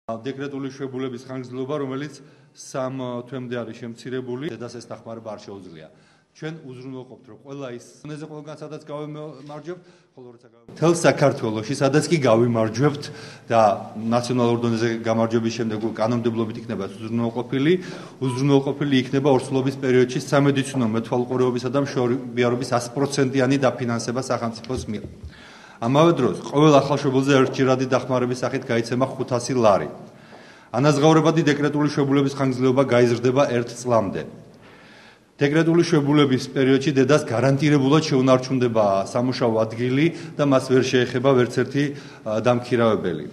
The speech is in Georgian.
დეკრეტული შვებულების ხანგრძლივობა, რომელიც 3 თვემდე არის შემცირებული, დედას ეს დახმარება არ შეუძლია. ჩვენ უზრუნველყოფთ, რომ ყველა ის ზონეზე ყველგან სადაც გავიმარჯვებთ, ხოლო როცა მთელ საქართველოში, სადაც კი გავიმარჯვებთ და ნაციონალურ დონეზე გამარჯვების შემდეგ კანონმდებლობით იქნება უზრუნველყოფილი იქნება ორსულობის პერიოდში სამედიცინო მეთვალყურეობისა და მშობიარობის 100%-იანი დაფინანსება სახელმწიფოს მიერ. ამავე დროს, ყოველ ახალშობილზე ერთჯერადი დახმარების სახით გაიცემა 500 ლარი. ანაზღაურებადი დეკრეტული შვებულების ხანგრძლივობა გაიზრდება 1 წლამდე. დეკრეტული შვებულების პერიოდში დედას გარანტირებულად შეუნარჩუნდება სამუშაო ადგილი და მას ვერ შეეხება ვერც ერთი დამქირავებელი.